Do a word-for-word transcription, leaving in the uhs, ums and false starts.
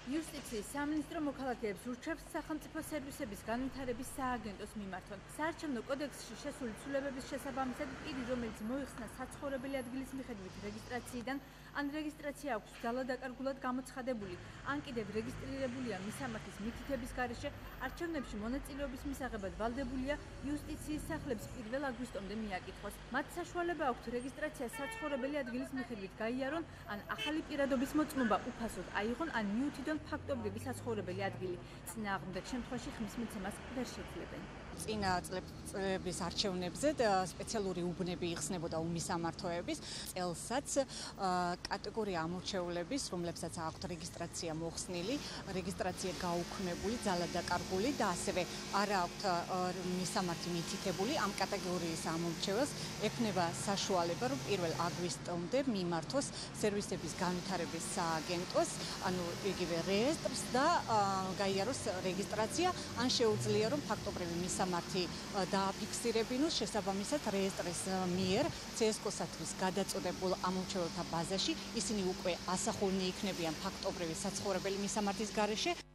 იუსტიციის სამინისტრო მოქალაქეებს ურჩევს სახელმწიფო სერვისების განვითარების სააგენტოს მიმართონ. საარჩევნო კოდექსში შესული ცვლილებების შესაბამისად პირი, რომელიც მოიხსნა საცხოვრებელი ადგილის მიხედვით რეგისტრაციიდან, ან რეგისტრაცია აქვს ძალადაკარგულად გამოცხადებული, ან კიდევ რეგისტრირებულია მისამართის მითითების გარეშე, არჩევნებში მონაწილეობის მისაღებად ვალდებულია იუსტიციის სახლებს პირველ აგვისტომდე მიაკითხოს. მათ საშუალება აქვთ რეგისტრაცია საცხოვრებელი ადგილის მიხედვით გაიარონ, ან ახალი პირადობის მოწმობა უფასოდ აიღონ, ან მიუთითონ ფაქტობრივი საცხოვრებელი ადგილი. წინააღმდეგ შემთხვევაში ხმის მიცემას ვერ შეძლებენ. წინა წლების არჩევნებზე სპეციალური უბნები იხსნებოდა უმისამართოების წელსაც კატეგორია ამორჩეულების, რომლებსაც აქვთ რეგისტრაცია მოხსნილი, რეგისტრაცია გაუქმებული, ძალადაკარგული და ასევე არ აქვთ მისამართი მითითებული, ამ კატეგორიის ამორჩეველს ექნება საშუალება, რომ პირველ აგვისტომდე მიმართოს სერვისების განვითარების სააგენტოს, ანუ იგივე რეესტრს და გაიაროს რეგისტრაცია, ან შეუძლია რომ ფაქტობრივი მისამართი მართი დააფიქსირებინოს შესაბამისად რეესტრის მიერ ცსკო-სათვის გადაწოდებულ ამორჩეველთა ბაზაში ისინი უკვე ასახულნი იქნებიან ფაქტობრივი საცხოვრებელი მისამართის გარეშე.